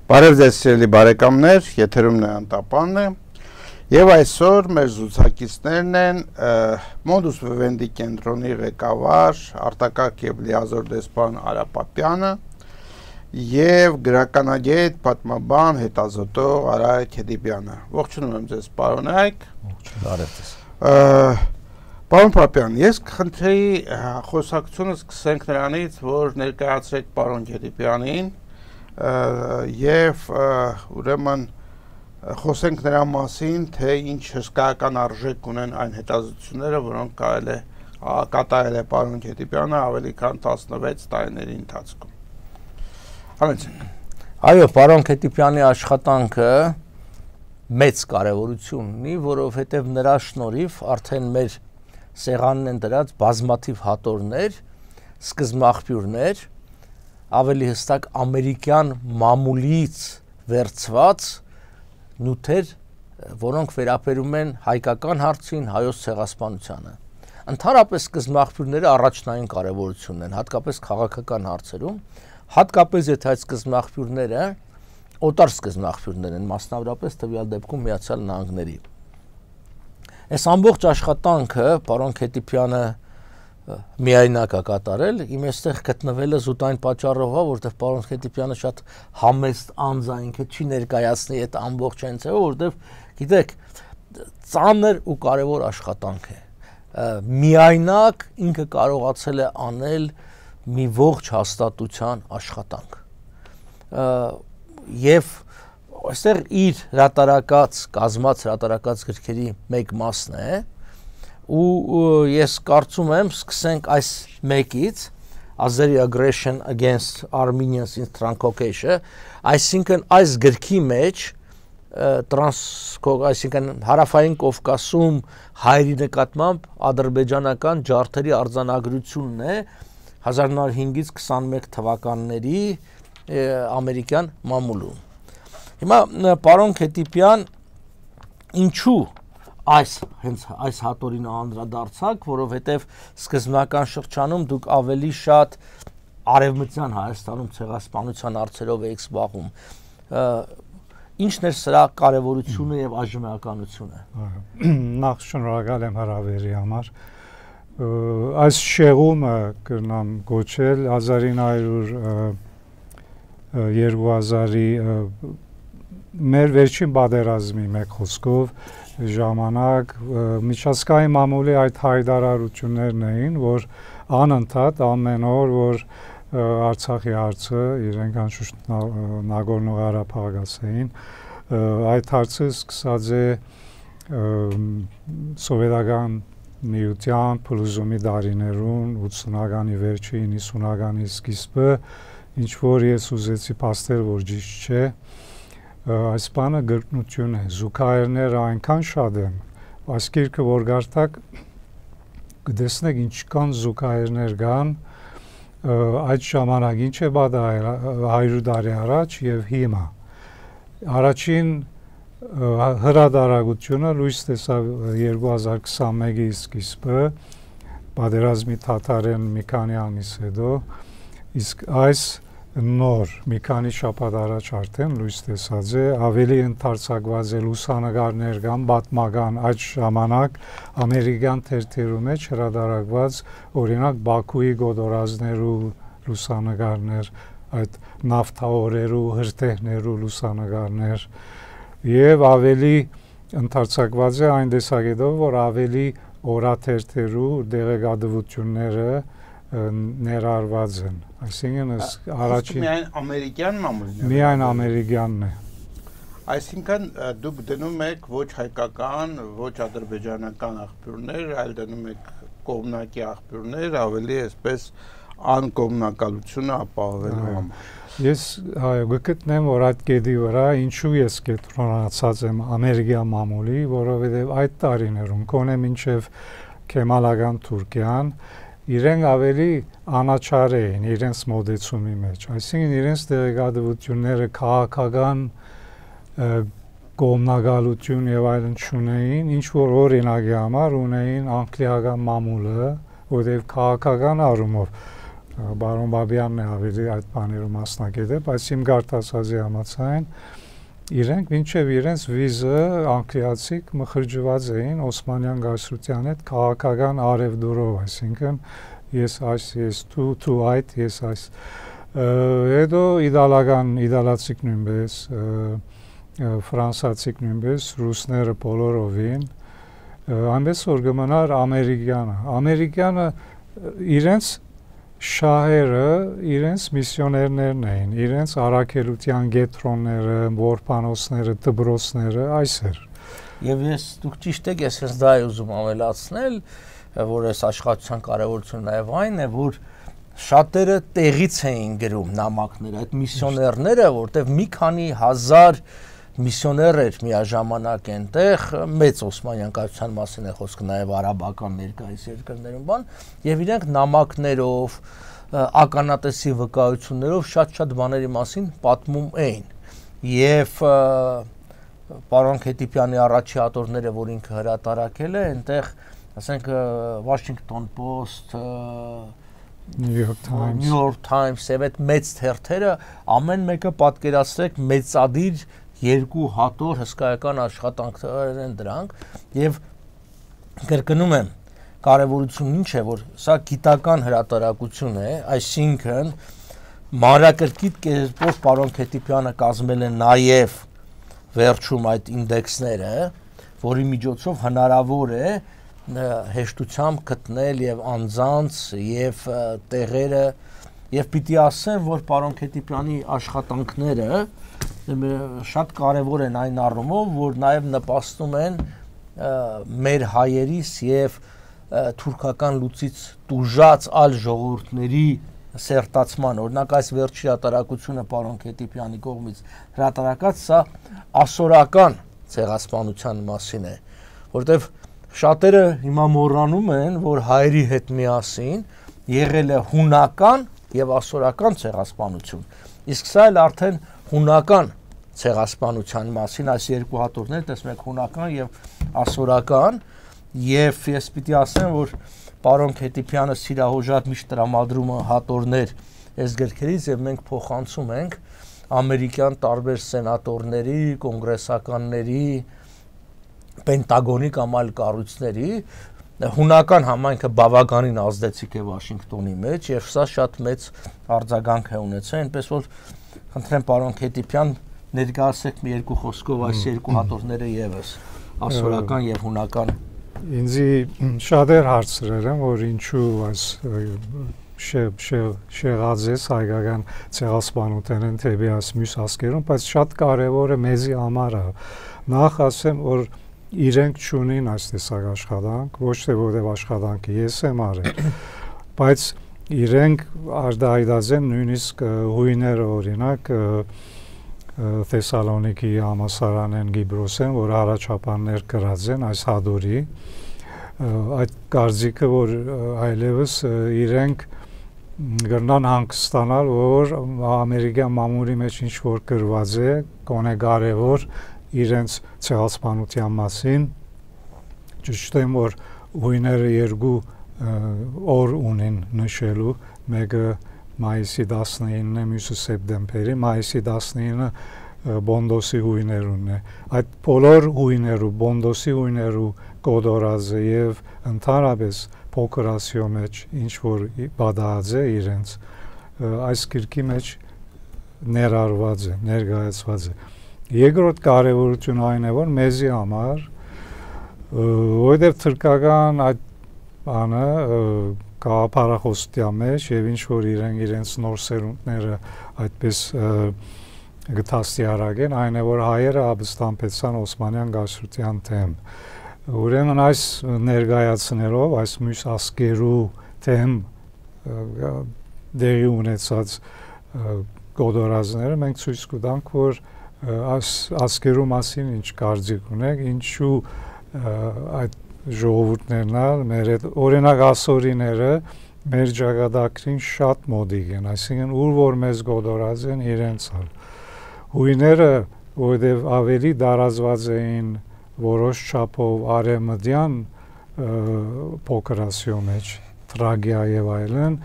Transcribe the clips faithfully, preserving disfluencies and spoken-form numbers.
Բարև ձեզ սիրելի բարեկամներ, եթերում է Անտապանն է, եւ այսօր մեր զրուցակիցներն են Modus Vivendi կենտրոնի ղեկավար արտակարգ եւ լիազոր դեսպան Արապատյանը եւ գրականագետ, պատմաբան, հետազոտող Արայք Հեդիբյանը։ Ողջունում եմ ձեզ, պարոն Արայք։ Բարև ձեզ։ Պարոն Պապյան, ես կխնդրեի խոսակցությունը սկսենք նրանից, որ ներկայացրեք պարոն Հեդիբյանին եւ ուրեմն խոսենք նրա մասին, թե ինչ հսկայական արժեք ունեն այն հետազոտությունները, որոնք կարել է կատարել է պարոն Հեդիբյանը ավելի քան տասնվեց տարիների ընթացքում։ Համեցեք։ Այո, պարոն Հեդիբյանի աշխատանքը մեծ կարևորություն ունի, որովհետև նրա շնորհիվ արդեն մեր սեղանն են դրած բազմաթիվ հատորներ, սկզբնաղբյուրներ, ավելի հստակ ամերիկյան մամուլից վերցված նյութեր, որոնք վերաբերում են հայկական հարցին, հայոց ցեղասպանությանը։ Ընդհանրապես սկզբնաղբյուրները առաջնային կարևորություն են, հատկապես քաղաքական հարցերում, հատկապես եթե այդ սկզբնաղբյուրները օտար սկզբնաղբյուրներ են, մասնավորապես տվյալ դեպքում Միացյալ Նահանգների։ Այս ամբողջ աշխատանքը պարոն Հեդիբյանը միայնակ է կատարել, իմ այստեղ գտնվելը զուտ այն պատճառով է, որովհետև պարոն Հեդիբյանը շատ համեստ անձ է, ինքը չի ներկայացնի այդ ամբողջ հենցը, որովհետև գիտեք, ծանր ու կարևոր աշխատանք է։ Միայնակ ինքը կարողացել է անել մի ողջ հաստատության աշխատանք։ Եվ այստեղ իր հրատարակած, կազմած հրատարակած գրքերի մեկ մասն է, ու ես կարծում եմ սկսենք այս մեկից Azeri Aggression Against Armenians in Transcaucasia, այսինքն այս գրքի մեջ այսինքն հարավային Կովկասում հայերի նկատմամբ ադրբեջանական ջարդերի արձանագրությունն է հազար նոց հինգից քսանմեկ թվականների ամերիկյան մամուլում։ Հիմա պարոն Հեդիբյան, ինչու այս հենց այս հատորին անդրադարձակ, որովհետև սկզբնական շրջանում դուք ավելի շատ արևմտյան Հայաստանում ցեղասպանության հարցերով եք զբաղվում։ Ինչն է սրա կարևորությունը եւ այժմեականությունը։ Նախ շնորհակալ եմ հրավերի համար։ Այս շեղումը կնամ գոչել հազար ինը հարյուր երկու հազարի մեր վերջին պատերազմի մեկ խոսքով ժամանակ միջազգային մամուլի այդ հայտարարություններն էին, որ անընդհատ ամեն օր, որ Արցախի հարցը իրենք անշուշտ Նագորնո Ղարաբաղ ասեին, այդ հարցը սկսած է սովետական միության փլուզումի դարիներուն, ութսունականի վերջին, հիսունականի սկիզբը, ինչ որ ես ուզեցի փաստել, որ ճիշտ չէ, այս բանը գրկնություն է, զուգահեռները այնքան շատ են, այս գիրքը որ գարտակ կտեսնեք ինչքան զուգահեռներ կան, այդ ժամանակ ինչ է պատահել հարյուր տարի առաջ եւ հիմա։ Առաջին հրատարակությունը լույս տեսավ երկու հազար քսանմեկի սկիզբը, պատերազմի թաթարեն մի քանի ամիս հետո, իսկ այս նոր մի քանի շաբաթ առաջ արդեն լույս տեսած է, ավելի ընդարձակված է լուսանկարներ կան, պատմական այդ ժամանակ ամերիկյան թերթերու մեջ հրատարակված օրինակ Բաքուի գոտորածներու լուսանկարներ, այդ նավթավորերու, հրթեհներու լուսանկարներ եւ ավելի ընդարձակված է այն տեսակետով, որ ավելի օրաթերթերու դեղեկատվությունները ներառված են, այսինքն առաջին միայն ամերիկյան մամուլն է։ Միայն ամերիկյանն է։ Այսինքն դուք դնում եք ոչ հայկական, ոչ ադրբեջանական աղբյուրներ, այլ դնում եք կողմնակի աղբյուրներ, ավելի այսպես անկողմնակալությունը ապահովելու համար։ Ես այո գտնեմ, որ այդ կետի վրա ինչու ես կենտրոնացած եմ ամերիկյան մամուլի, որովհետև այդ տարիներում կոնե մինչև Քեմալական Թուրքիան իրենք ավելի անաչառ էին իրենց մոդեցումի մեջ, այսինքն իրենց դեղեկատվությունները քաղաքական կողմնակալություն եւ այլն չունեին, ինչ որ օրինակի համար ունեին անգլիական մամուլը, որտեղ քաղաքական առումով Բարոն Բաբյանն է ավելի այդ բաներում մասնակից է, բայց իմ գարտասացի համաձայն իրենք մինչև իրենց վիզը անգլիացիք մխրճված էին Օսմանյան գայսրության հետ քաղաքական արևդուրով, այսինքն ես այս ես դու դու այդ ես այս հետո իդալական իդալացիք նույնպես ֆրանսացիք նույնպես ռուսները բոլորովին այնպես որ գմնար ամերիկյանը ամերիկյանը իրենց շահերը իրենց միսիոներներն էին, իրենց առաքելության գետրոնները, որբանոցները, դբրոցները, այս էր։ Եվ ես դուք ճիշտ եք, ես ես դա ուզում ավելացնել, որ այս աշխատության կարևորությունը նաև այն է, որ շատերը տեղից էին գրում նամակները, այդ միսիոներները, որտեղ մի քանի հազար միսիոներ էր միաժամանակ այնտեղ, մեծ Օսմանյան կայսրության մասին է խոսքը նաև արաբական ներկայիս երկրներում բան, եւ իրենք նամակներով, ականատեսի վկայություններով շատ-շատ բաների մասին պատմում էին։ Եվ պարոն Քետիպյանի առաջի հատորները, որ ինքը հրատարակել է, այնտեղ, ասենք, Washington Post, New York Times, New York Times, այդ մեծ թերթերը ամեն մեկը պատկերացրեք մեծադիր երկու հատոր հսկայական աշխատանքներ են դրանք եւ կրկնում եմ կարևորությունն ինչ է որ սա գիտական հրատարակություն է այսինքն մանրակրկիտ կերպով պարոն Քետիպյանը կազմել է նաեւ վերջում այդ ինդեքսները որի միջոցով հնարավոր է հեշտությամբ գտնել եւ անձանց եւ տեղերը եւ պիտի ասեմ որ պարոն Քետիպյանի աշխատանքները շատ կարևոր են այն առումով, որ նաև նպաստում են մեր հայերիս եւ թուրքական լուծից տուժած այլ ժողովուրդների սերտացման, օրինակ այս վերջի հրատարակությունը պարոն Քետիպյանի կողմից հրատարակած սա ասորական ցեղասպանության մասին է, որտեվ շատերը հիմա մոռանում են, որ հայերի հետ միասին եղել է հունական եւ ասորական ցեղասպանություն, իսկ սա էլ արդեն հունական ցեղասպանության մասին այս երկու հատորներ տեսնում եք հունական եւ ասորական եւ ես պիտի ասեմ որ պարոն Քետիպյանը սիրահոժատ միշտ տրամադրում է հատորներ այս գրքերից եւ մենք փոխանցում ենք ամերիկյան տարբեր սենատորների, կոնգրեսականների, պենտագոնի կամ այլ կառույցների հունական համայնքը բավականին ազդեցիկ է Վաշինգտոնի մեջ եւ սա շատ մեծ արձագանք է ունեցել այնպես որ խնդրեմ պարոն Քետիպյան ներկայացեք մի երկու խոսքով այս երկու հատորները եւս ասորական եւ հունական ինձի շատ էր հարցրել են որ ինչու այս շեղածես հայկական ցեղասպանության թեպի այս մյուս ասկերում բայց շատ կարեւոր է մեզի համար նախ ասեմ որ իրենք չունին այս տեսակ աշխատանք ոչ թե որտեղ աշխատանքը ես եմ արել բայց իրենք արդայդած են նույնիսկ հույները օրինակ Թեսալոնիկի համալսարանեն Գիբրոսեն, որ առաջապաններ կրած են այս հադորի, այդ կարծիքը, որ այլևս իրենք գրնան հանգստանալ, որ ամերիկյան մամուլի մեջ ինչ-որ գրված է, կոնե կարևոր իրենց ցեղասպանության մասին, ճիշտ է, որ հույները երկու օր ունեն նշելու, մեկը մայիսի տասնինն է, մյուսը սեպտեմբերի, մայիսի տասնինը Բոնդոսի հույներուն է։ Այդ բոլոր հույներու, Բոնդոսի հույներու կոդորածը եւ ընդհանրապես փոքրասիո մեջ ինչ որ բադած է իրենց այս գրքի մեջ ներառված է, ներկայացված է։ Երկրորդ կարևորությունը այն է, որ մեզի համար որովհետեւ թրկական այդ բանը կապարախոսության մեջ եւ ինչ որ իրենք իրենց նոր սերունդները այդպես գտաստի արագեն այն է որ հայերը ապստամբեցան Օսմանյան գայսրության թեմ ուրեմն այս ներկայացնելով այս մյուս ասկերու թեմ դերի ունեցած գոդորածները մենք ցույց կտանք որ այս ասկերու մասին ինչ կարծիք ունեք ինչու այդ ժողովուրդներն մեր օրինակ ասորիները մեր ճակատագրին շատ մոդիկ են, այսինքն ուր որ մեզ գոդորած են իրենց հալ։ Հույները, որովհետև ավելի դարազված էին որոշ չափով արևմտյան փոքրասիո մեջ, Թրագիա եւ այլն,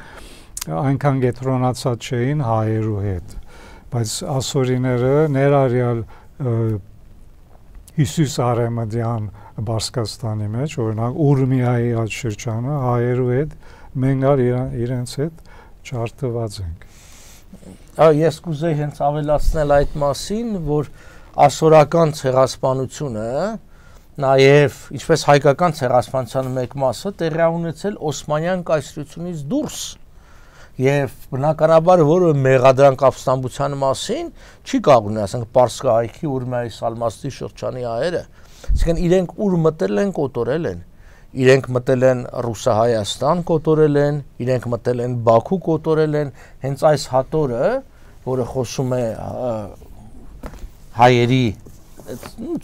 այնքան կենտրոնացած չէին հայերու հետ, բայց ասորիները ներառյալ Հիսուս Արեմդյան Բարսկաստանի մեջ, օրինակ Ուրմիայի այդ շրջանը հայերու հետ մենք իրենց հետ չարթված ենք։ Ես կուզեի հենց ավելացնել այդ մասին, որ ասորական ցեղասպանությունը նաև ինչպես հայկական ցեղասպանության մեկ մասը տեղի ունեցել Օսմանյան կայսրությունից դուրս եւ բնականաբար որը մեղադրանք ապստամբության մասին չի կաղունի, ասենք Պարսկա հայքի Ուրմիայի Սալմաստի շրջանի հայերը, այսինքն իրենք ուր մտել են, կոտորել են, իրենք մտել են Ռուսահայաստան, կոտորել են, իրենք մտել են Բաքու, կոտորել են, հենց այս հատորը, որը խոսում է հայերի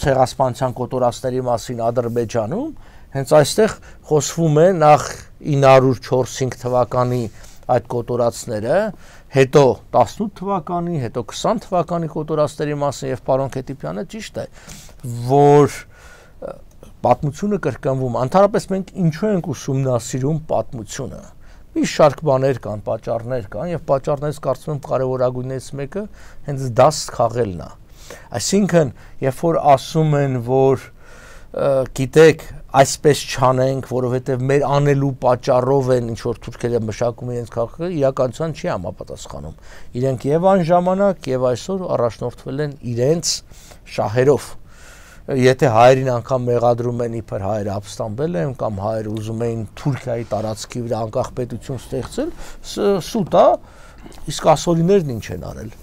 ցեղասպանության կոտորածների մասին Ադրբեջանում, հենց այստեղ խոսվում է նախ ինը հարյուր չորս-հինգ թվականի այդ կոտորածները, հետո տասնութ թվականի, հետո քսան թվականի կոտորածների մասին եւ պարոն Քետիպյանը ճիշտ է, որ պատմությունը կրկնվում, ընդհանրապես մենք ինչու ենք ուսումնասիրում պատմությունը։ Մի շարք բաներ կան, պատճառներ կան եւ պատճառներից կարծում եմ կարեւորագույններից մեկը հենց դաս քաղելն է։ Այսինքն, երբ որ ասում են, որ գիտեք, այսպես չանենք, որովհետև մեր անելու պատճառով են ինչ որ թուրքերը մշակում իրենց քաղաքը, իրականության չի համապատասխանում։ Իրենք եւ այն ժամանակ եւ այսօր առաջնորդվել են իրենց շահերով։ Եթե հայերին անգամ մեղադրում են իբր հայերը ապստամբել են կամ հայերը ուզում էին Թուրքիայի տարածքի վրա անկախ պետություն ստեղծել, սուտ է, իսկ ասորիներն ինչ են արել։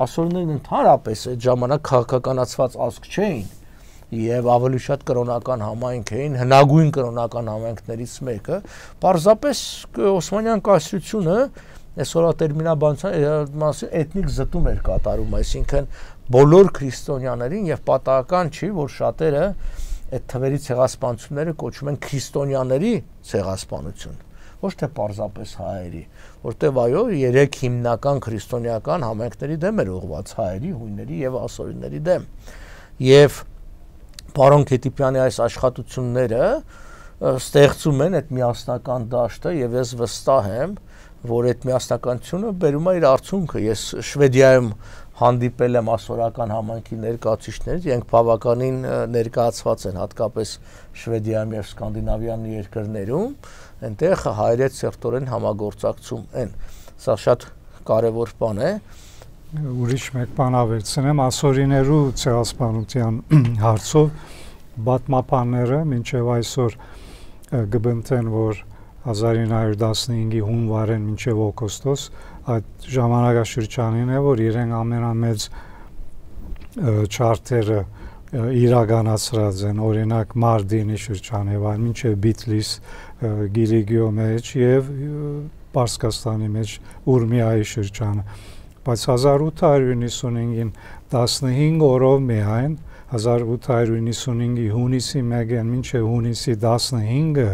Ասորիներն ընդհանրապես այդ ժամանակ քաղաքականացված ազգ չէին եւ ավելի շատ կրոնական համայնք էին, հնագույն կրոնական համայնքներից մեկը, պարզապես Օսմանյան կայսրությունը այսօրվա տերմինաբանության էթնիկ զտում էր կատարում, այսինքն բոլոր քրիստոնյաներին եւ պատահական չի, որ շատերը այդ թվերի ցեղասպանությունները կոչում են քրիստոնյաների ցեղասպանություն, ոչ թե պարզապես հայերի, որտեղ այո, երեք հիմնական քրիստոնեական համայնքների դեմ էր ուղղված հայերի, հույների եւ ասորիների դեմ։ Եվ պարոն Քետիպյանի այս աշխատությունները ստեղծում են այդ միասնական դաշտը եւ ես վստահ եմ, որ այդ միասնականությունը բերում է իր արդյունքը։ Ես Շվեդիայում հանդիպել եմ ասորական համայնքի ներկայացուցիչներից, իրենք բավականին ներկայացված են, հատկապես Շվեդիայում եւ Սկանդինավյան երկրներում, այնտեղ հայերից սերտորեն համագործակցում են։ Սա շատ կարևոր բան է։ Ուրիշ մեկ բան ավելցնեմ, ասորիներու ցեղասպանության հարցով պատմաբանները մինչև այսօր գբնթեն, որ հազար ինը հարյուր տասնհինգի հունվարեն մինչև օգոստոս այդ ժամանակաշրջանին է, որ իրենք ամենամեծ չարթերը իրականացրած են, օրինակ Մարդինի շրջան եւ այլ մինչև Բիթլիս, Գիլիգիո մեջ եւ Պարսկաստանի մեջ Ուրմիայի շրջանը, բայց հազար ութ հարյուր նվաթ տասնհինգ օրով միայն հազար ութ հարյուր նվաթ հունիսի մեկին մինչև հունիսի տասնհինգը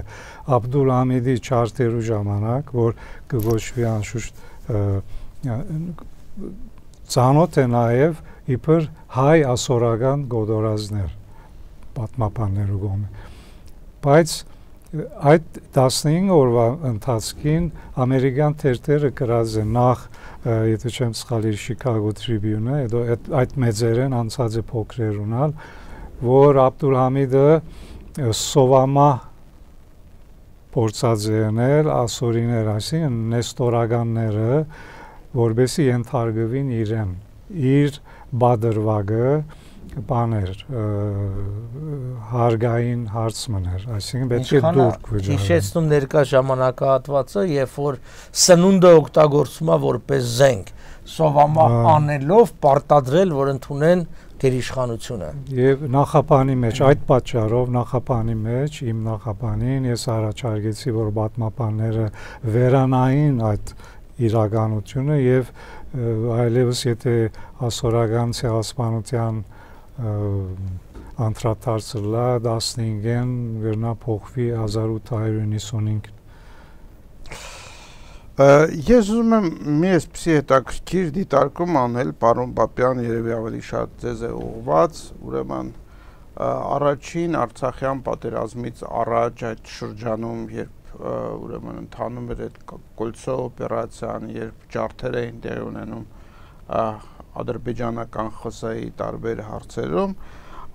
Աբդուլհամիդի չարթերու ժամանակ, որ կգոչվի անշուշտ ծանոթ է նաև իբր հայ ասորական գոդորազներ պատմաբաններու կողմից, բայց այդ տասնհինգ օրվա ընթացքին ամերիկյան թերթերը գրած են նախ, եթե չեմ սխալիր, Chicago Tribune-ը, հետո այդ մեծերեն անցած է փոքրեր ունալ, որ Աբդուլհամիդը սովամա փորձած է եղել ասորիներ, այսինքն նեստորականները, որբեսի ենթարկվին իրեն, իր բادرվագը բաներ հարգային հարց մներ, այսինքն պետք է դուրք վճարեն։ Հիշեցնում ներկա ժամանակահատվածը, երբ որ սնունդը օգտագործվում է որպես զենք, սովամա անելով պարտադրել, որ ընդունեն գերիշխանությունը։ Եվ նախապանի մեջ, այդ պատճառով նախապանի մեջ, իմ նախապանին ես առաջարկեցի, որ պատմաբանները վերանային այդ իրականությունը եւ այլևս եթե ասորական ցեղասպանության անդրադարձը լա տասնհինգեն վերնա փոխվի հազար ութ հարյուր նվաթ Ես ուզում եմ մի այսպիսի հետաքրքիր դիտարկում անել, պարոն Պապյան, երևի ավելի շատ ձեզ է ուղղված, ուրեմն առաջին Արցախյան պատերազմից առաջ այդ շրջանում, երբ ուրեմն ընթանում էր այդ Կոլցո օպերացիան, երբ ջարդեր էին տեղի ունենում ադրբեջանական ԽՍՀ-ի տարբեր հարցերում,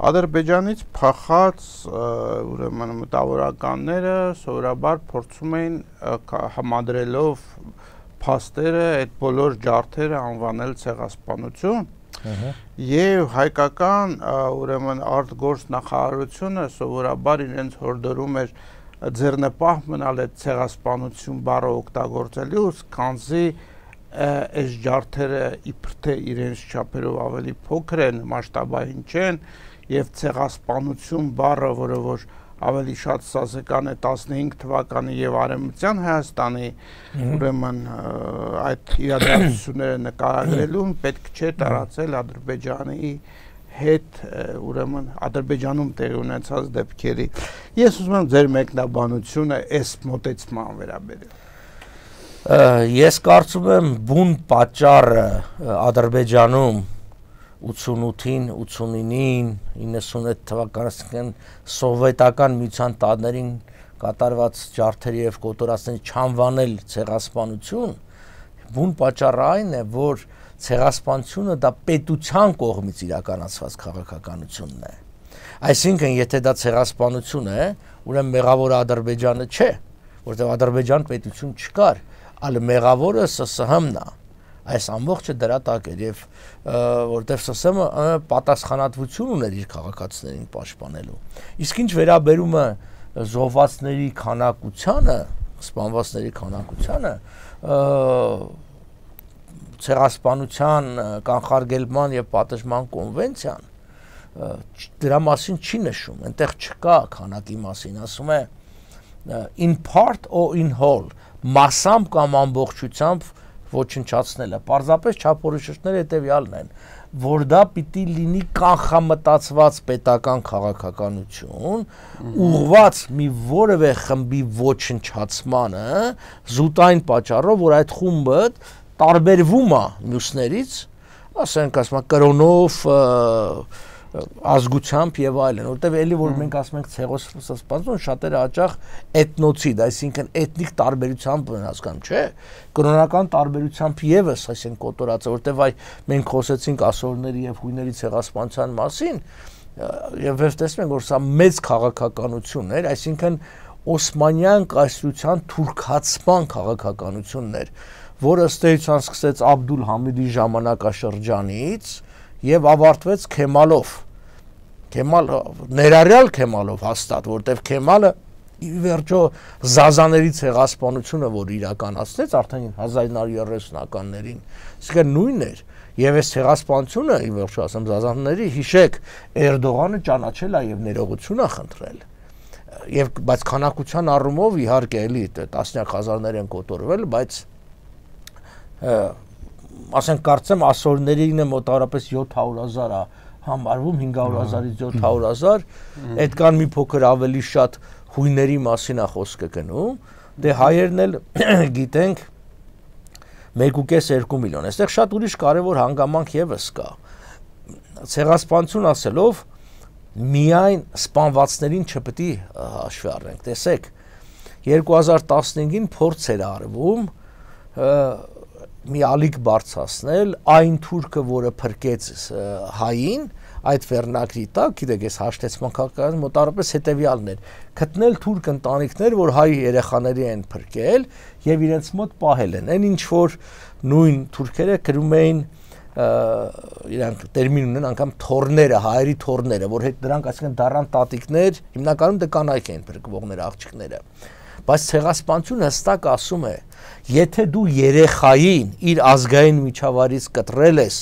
Ադրբեջանից փախած ուրեմն մտավորականները սովորաբար փորձում էին համադրելով փաստերը այդ բոլոր ջարդերը անվանել ցեղասպանություն եւ հայկական ուրեմն արտգործ նախարարությունը սովորաբար իրենց հորդորում էր ձեռնպահ մնալ այդ ցեղասպանություն բառը օգտագործելուց, քանզի այս ջարդերը իբր թե իրենց չափերով ավելի փոքր են, մասշտաբային չեն եւ ցեղասպանություն բառը, որը որ ավելի շատ սազեկան է տասնհինգ թվականի եւ արևմտյան Հայաստանի ուրեմն այդ իրադարձությունները նկարագրելուն պետք չէ տարածել Ադրբեջանի հետ ուրեմն Ադրբեջանում տեղի ունեցած դեպքերի։ Ես ուզում եմ ձեր մեկնաբանությունը այս մոտեցման վերաբերել։ Ես կարծում եմ բուն պատճառը Ադրբեջանում ութսունութին, ութսունինին, իննսունութ թվականներին սովետական միության տարիներին կատարված ջարդերի եւ կոտորածների չանվանել ցեղասպանություն, բուն պատճառը այն է, որ ցեղասպանությունը դա պետության կողմից իրականացված քաղաքականությունն է։ Այսինքն, եթե դա ցեղասպանություն է, ուրեմն մեղավորը Ադրբեջանը չէ, որտեղ Ադրբեջան պետություն չկար, այլ մեղավորը ՍՍՀ-ն է։ Այս ամբողջը դրա տակ էր եւ որտեվ ՍՍՀ-ը պատասխանատվություն ուներ իր քաղաքացիներին պաշտպանելու։ Իսկ ինչ վերաբերում է զոհվածների քանակությանը, սպանվածների քանակությանը, ցեղասպանության կանխարգելման եւ պատժման կոնվենցիան դրա մասին չի նշում, այնտեղ չկա քանակի մասին, ասում է in part or in whole, մասամբ կամ ամբողջությամբ ոչնչացնելը, պարզապես չափորոշիչները հետևյալն են, որ դա պիտի լինի կանխամտածված պետական քաղաքականություն, ուղղված մի որևէ խմբի ոչնչացմանը, զուտային պատճառով, որ այդ խումբը տարբերվում է մյուսներից, ասենք ասում կրոնով, ազգությամբ եւ այլն, որտեւ էլի որ մենք ասում ենք ցեղասպանություն, շատերը հաճախ էթնոցիդ, այսինքն էթնիկ տարբերությամբ են հասկանում, չէ՞, կրոնական տարբերությամբ եւս այսինքն կոտորածը, որտեւ այ մենք խոսեցինք ասորների եւ հույների ցեղասպանության մասին, եւ վերջ տեսնում ենք, որ սա մեծ քաղաքականություն էր, այսինքն Օսմանյան կայսրության թուրքացման քաղաքականությունն էր, որը ըստ էության սկսեց Աբդուլ Համիդի ժամանակաշրջանից եւ ավարտվեց Քեմալով, Քեմալ ներառյալ Քեմալով հաստատ, որտեվ Քեմալը ի վերջո Զազաների ցեղասպանությունը, որ իրականացնեց արդեն հազար ինը հարյուր երեսունականներին, իսկ նույնն էր, եւ այս ցեղասպանությունը ի վերջո ասեմ Զազաների, հիշեք, Էրդողանը ճանաչել է եւ ներողություն է խնդրել, եւ բայց քանակության առումով իհարկե էլի տասնյակ հազարներ են կոտորվել, բայց ասենք կարծեմ ասորներին է մոտավորապես յոթ հարյուր հազար է համարվում, հինգ հարյուր հազարից յոթ հարյուր հազար, այդ կան մի փոքր ավելի շատ հույների մասին է խոսքը գնում, դե հայերն էլ գիտենք մեկ ու կես երկու միլիոն, այստեղ շատ ուրիշ կարևոր հանգամանք եւս կա, ցեղասպանություն ասելով միայն սպանվածներին չպետք է հաշվի առնենք, տեսեք, երկու հազար տասնհինգին փորձ էր արվում մի ալիք բարձրացնել այն թուրքը, որը փրկեց հային, այդ վերնակրի տակ, գիտեք, այս հաշտեցման քաղաքական մոտավորապես հետևյալն էր, գտնել թուրք ընտանիքներ, որ հայ երեխաների են փրկել եւ իրենց մոտ պահել են, այն ինչ որ նույն թուրքերը կրում էին իրանք տերմին ունեն անգամ թորները, հայերի թորները, որ հետ դրանք այսինքն դառան տատիկներ, հիմնականում դա կանայք են փրկվողները, աղջիկները։ Բայց ցեղասպանությունը հստակ ասում է, եթե դու երեխային իր ազգային միջավայրից կտրել ես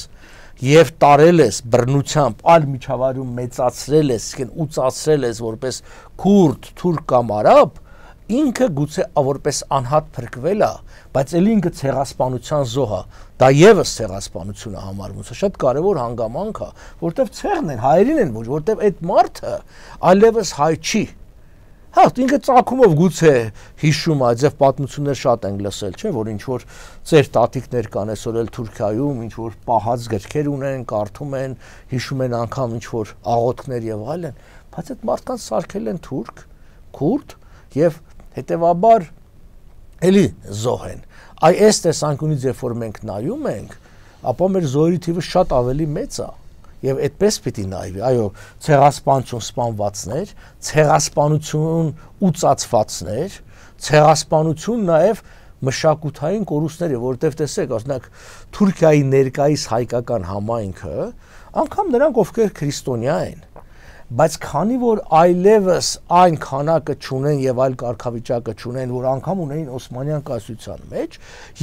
եւ տարել ես բռնությամբ, այլ միջավայրում մեծացրել ես, այսինքն ուծացրել ես որպես քուրդ, թուրք կամ արաբ, ինքը գուցե որպես անհատ փրկվել է, բայց ելի ինքը ցեղասպանության զոհ է, դա եւս ցեղասպանություն է համարվում, սա շատ կարեւոր հանգամանք է, որտեվ ցեղն են, հայերին են ոչ, որտեվ այդ մարդը այլևս հայ չի։ Հա, ինքը ծագումով գուցե հիշում է, ձև պատմություններ շատ են լսել, չէ՞, որ ինչ որ ծեր տատիկներ կան այսօր էլ Թուրքիայում, ինչ որ պահած գրքեր ունեն, կարդում են, հիշում են անգամ ինչ որ աղոթքներ եւ այլն, բայց այդ մարդկանց սարքել են թուրք, քուրդ եւ հետևաբար էլի զոհ են։ Այ այս տեսանկյունից երբ որ մենք նայում ենք, ապա մեր զոհերի թիվը շատ ավելի մեծ է։ Եվ այդպես պիտի նայվի, այո, ցեղասպանություն սպանվածներ, ցեղասպանություն ուծացվածներ, ցեղասպանություն նաև մշակութային կորուստները, որտեղ տեսեք, օրինակ Թուրքիայի ներկայիս հայկական համայնքը, անգամ նրանք ովքեր քրիստոնյա են, բայց քանի որ այլևս այն քանակը չունեն եւ այլ կարգավիճակը չունեն, որ անգամ ունեին Օսմանյան կայսրության մեջ,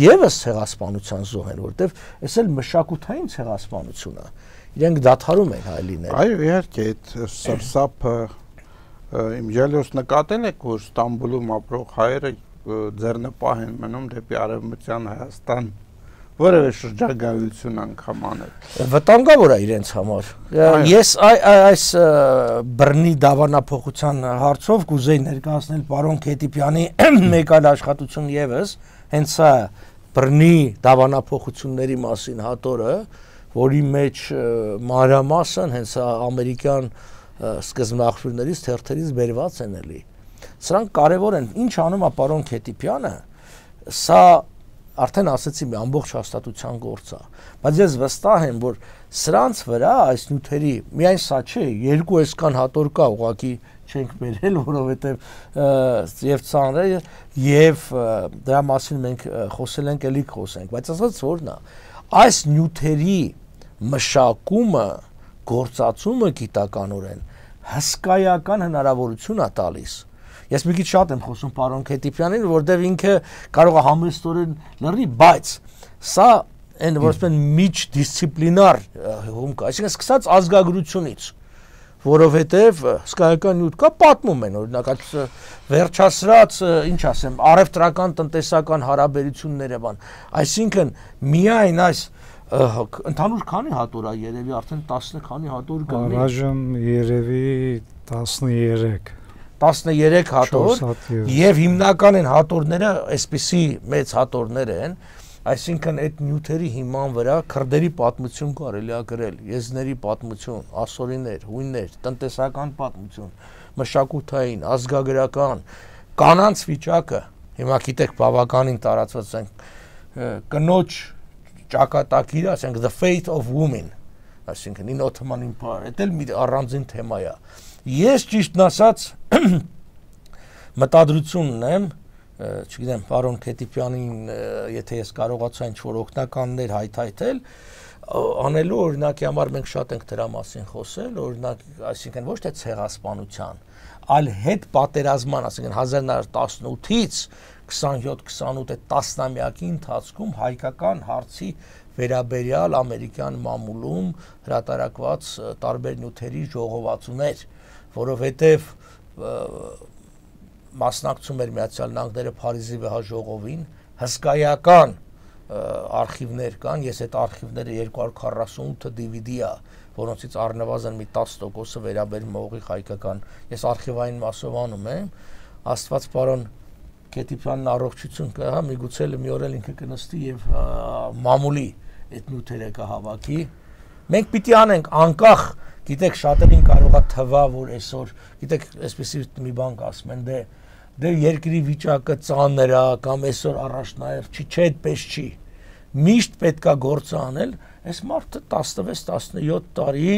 եւս ցեղասպանության զոհ են, որտեղ այս էլ մշակութային ցեղասպանություն է։ Իրենք դադարում են հայ լինել։ Այո, իհարկե, այդ սրսափը իմջալիոս նկատել եք, որ Ստամբուլում ապրող հայերը ձեռնպահ են մնում դեպի Արևմտյան Հայաստան, որևէ շրջագայություն անգամ անել։ Վտանգավոր է իրենց համար։ Ես այս բռնի դավանափոխության հարցով կուզեի ներկայացնել պարոն Քետիպյանի մեկ այլ աշխատություն եւս, հենց սա բռնի դավանափոխությունների մասին հատորը, որի մեջ մանրամասն հենց ամերիկյան սկզբնաղբյուրներից թերթերից բերված են էլի։ Սրանք կարևոր են։ Ինչ անում է պարոն Քետիպյանը, սա արդեն ասացի մի ամբողջ հաստատության գործ է, բայց ես վստահ եմ, որ սրանց վրա այս նյութերի միայն սա չէ, երկու այսքան հատոր կա, ուղղակի չենք բերել, որովհետև եւ ծանր է եւ դրա մասին մենք խոսել ենք, էլի խոսենք, բայց ասած որն է, այս նյութերի մշակումը, գործածումը գիտականորեն հսկայական հնարավորություն է տալիս։ Ես մի քիչ շատ եմ խոսում պարոն Քետիպյանին, որտեղ ինքը կարող է համեստորեն լռի, բայց սա այն որպես միջդիսցիպլինար հումք, այսինքն սկսած ազգագրությունից, որովհետև հսկայական նյութ կա, պատմում են, օրինակ այդ վերջասրած, ինչ ասեմ, առևտրական տնտեսական հարաբերությունները բան, այսինքն միայն այս ընդհանուր քանի հատոր է երևի արդեն տասը քանի հատոր կլինի։ Առայժմ երևի տասներեք տասներեք հատոր եւ հիմնական են հատորները այսպիսի մեծ հատորներ են, այսինքն այդ նյութերի հիման վրա քրդերի պատմություն կարելի է գրել, եզների պատմություն, ասորիներ, հույններ, տնտեսական պատմություն, մշակութային, ազգագրական, կանանց վիճակը, հիմա գիտեք բավականին տարածված են կնոջ ճակատագիրը, ասենք the fate of women, այսինքն in Ottoman Empire, դա էլ մի առանձին թեմա է։ Ես ճիշտն ասած մտադրություն ունեմ, չգիտեմ, պարոն Քետիպյանին, եթե ես կարողացա ինչ-որ օգնականներ հայթայթել, անելու օրինակի համար մենք շատ ենք դրա մասին խոսել, օրինակ, այսինքն ոչ թե ցեղասպանության, այլ հետ պատերազման, այսինքն հազար նոց տասնութից քսանյոթ քսանութ այդ տասնամյակի ընթացքում հայկական հարցի վերաբերյալ ամերիկյան մամուլում հրատարակված տարբեր նյութերի ժողովածուներ, որովհետև մասնակցում էր Միացյալ Նահանգները Փարիզի վեհաժողովին, հսկայական արխիվներ կան, ես այդ արխիվները երկու հարյուր քառասունութ դի վի դի է, որոնցից առնվազն մի տասը տոկոսը վերաբերում է ուղիղ հայկական, ես արխիվային մասով անում եմ, Աստված պարոն Քետիպյանն առողջություն կհա, միգուցե մի օր էլ ինքը կնստի եւ մամուլի այդ նյութերը կհավաքի։ Մենք պիտի անենք անկախ, գիտեք, շատերին կարող է թվա, որ այսօր, գիտեք, այսպեսի մի բան կասում են, դե դե երկրի վիճակը ծանր է կամ այսօր առաջնահերթ չի, չէ, այդպես չի։ Միշտ պետքա գործ անել, այս մարդը տասնվեց տասնյոթ տարի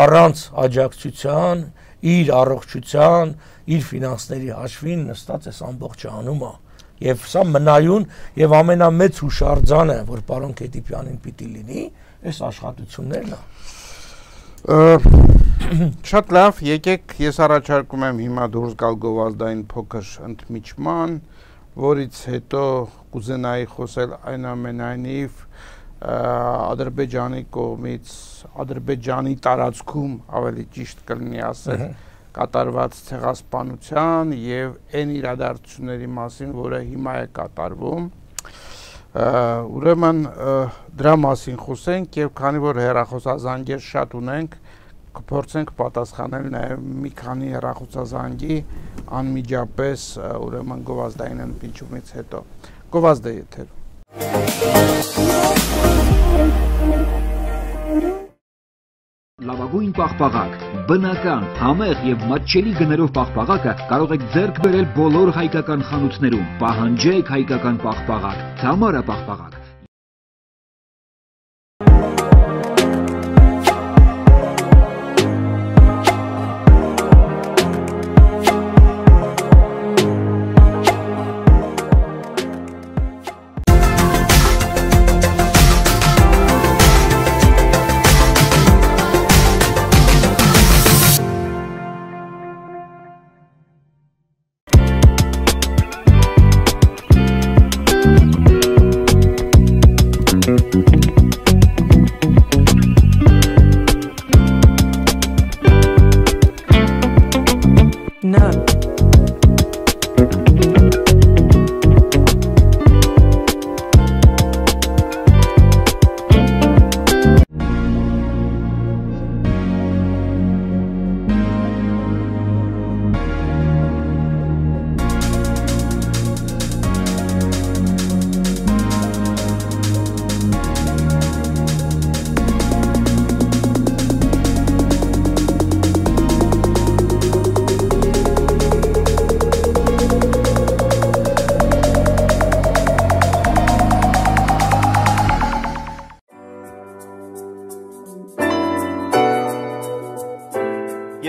առանց աջակցության, իր առողջության, իր ֆինանսների հաշվին նստած այս ամբողջը անում է։ Եվ սա մնայուն եւ ամենամեծ հուշարձանը, որ պարոն Քետիպյանին պիտի լինի, այս աշխատություններն է։ Շատ լավ, եկեք ես առաջարկում եմ հիմա դուրս գալ գովազդային փոքր ընդմիջման, որից հետո կուզենայի խոսել այնուամենայնիվ Ադրբեջանի կողմից, Ադրբեջանի տարածքում ավելի ճիշտ կլինի ասել, կատարված ցեղասպանության եւ այն իրադարձությունների մասին, որը հիմա է կատարվում։ Ուրեմն դրա մասին խոսենք եւ քանի որ հեռախոսազանգեր շատ ունենք, կփորձենք պատասխանել նաեւ մի քանի հեռախոսազանգի անմիջապես ուրեմն գովազդային ընդմիջումից հետո։ Գովազդը եթեր։ Լավագույն լավագույն պաղպաղակ, բնական, համեղ եւ մատչելի գներով պաղպաղակը կարող եք ձեռք բերել բոլոր հայկական խանութներում։ Պահանջեք հայկական պաղպաղակ, Թամարա պաղպաղակ։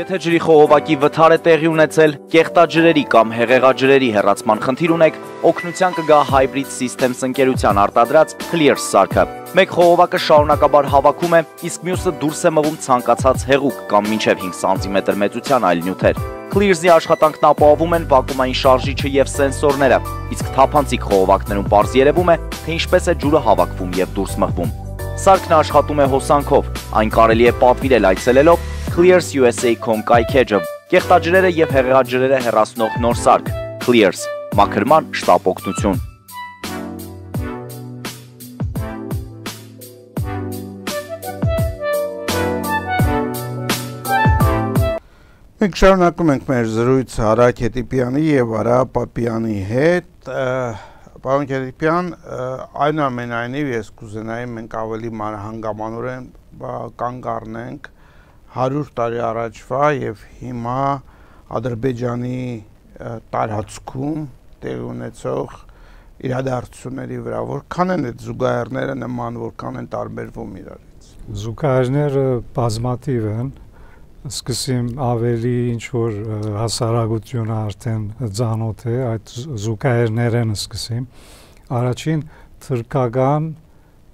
Եթե ջրի խողովակի վթար է տեղի ունեցել, կեղտաջրերի կամ հեղեղաջրերի հեռացման խնդիր ունեք, օգնության կգա Hybrid Systems ընկերության արտադրած Clears սարքը։ Մեկ խողովակը շարունակաբար հավաքում է, իսկ մյուսը դուրս է մղում ցանկացած հեղուկ կամ մինչև հինգ սանտիմետր մեծության այլ նյութեր։ Clears-ի աշխատանքն ապահովում են վակուումային շարժիչը եւ սենսորները, իսկ թափանցիկ խողովակներում պարզ երևում է, թե ինչպես է ջուրը հավաքվում եւ դուրս մղվում։ Սարքն աշխատում է հոսանքով, այն կարելի է պատվիրել այցելելով Clears U S A dot com կայքեջը, կեղտաջրերը եւ հեղեղաջրերը հեռացնող նոր սարք, Clears, մաքրման շտապ օգնություն։ Մենք շարունակում ենք մեր զրույցը Արա Քետիպյանի եւ Արա Պապյանի հետ։ Պարոն Քետիպյան, այնուամենայնիվ ես կուզենայի մենք ավելի մանրահանգամանորեն կանգ առնենք հարյուր տարի առաջվա եւ հիմա Ադրբեջանի տարածքում տեղի ունեցող իրադարձությունների վրա, որքան են այդ զուգահեռները նման, որքան են տարբերվում իրարից։ Զուգահեռները բազմաթիվ են, սկսեմ ավելի ինչ որ հասարակությունը արդեն ծանոթ է այդ զուգահեռներն սկսեմ։ Առաջին թուրքական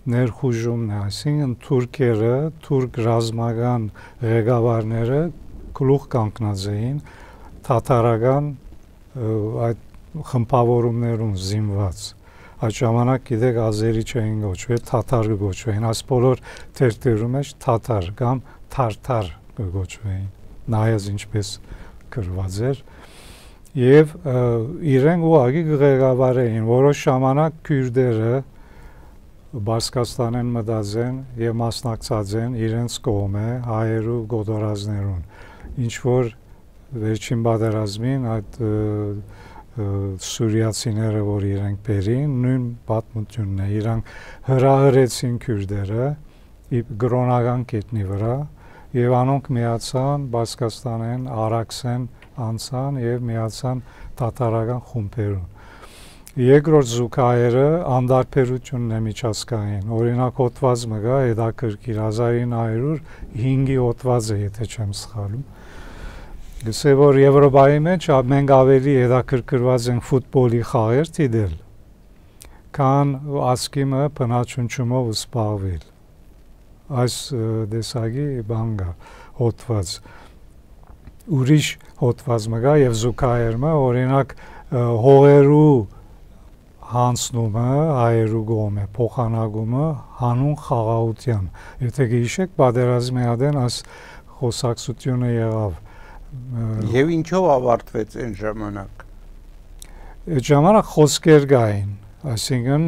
ներխուժումն է, այսինքն թուրքերը, թուրք ռազմական ղեկավարները գլուխ կանգնած էին թաթարական այդ խմբավորումներում զինված։ Այդ ժամանակ գիտեք ազերի չէին գոչվել, թաթար գոչվեին, այս բոլոր թերթերում մեջ թաթար կամ թարթար գոչվեին, նայած ինչպես գրված էր, եւ իրենք ուղղակի ղեկավար էին, որոշ ժամանակ քյուրդերը Բարձկաստանեն մտածեն եւ մասնակցած են իրենց կողմը հայերու գոտորածներուն, ինչ որ վերջին պատերազմին այդ սուրիացիները, որ իրենք բերին, նույն պատմությունն է, իրանք հրահրեցին քյուրդերը գրոնական կետնի վրա եւ անոնք միացան Բարձկաստանեն, Արաքսեն անցան եւ միացան թաթարական խումբերուն։ Երկրորդ զուգահեռը անդարբերությունն է միջազգային, օրինակ հոդված մը գա հետաքրքիր հազար ինը հարյուր հինգի հոդվածը, եթե չեմ սխալվում։ Գսե որ Եվրոպայի մեջ մենք ավելի հետաքրքրված ենք ֆուտբոլի խաղեր դիտել, քան ասկիմը բնաճնչումով զբաղվել։ Այս դեսագի բան գա հոդված։ Ուրիշ հոդված մը գա եւ զուգահեռը, օրինակ հողերու հանցնումը հայերու կողմը, փոխանակումը հանուն խաղաղության։ Եթե գիշեք պատերազմի ադեն այս խոսակցությունը եղավ։ Եվ ինչով ավարտվեց այն ժամանակ։ Այդ ժամանակ խոսքեր կային, այսինքն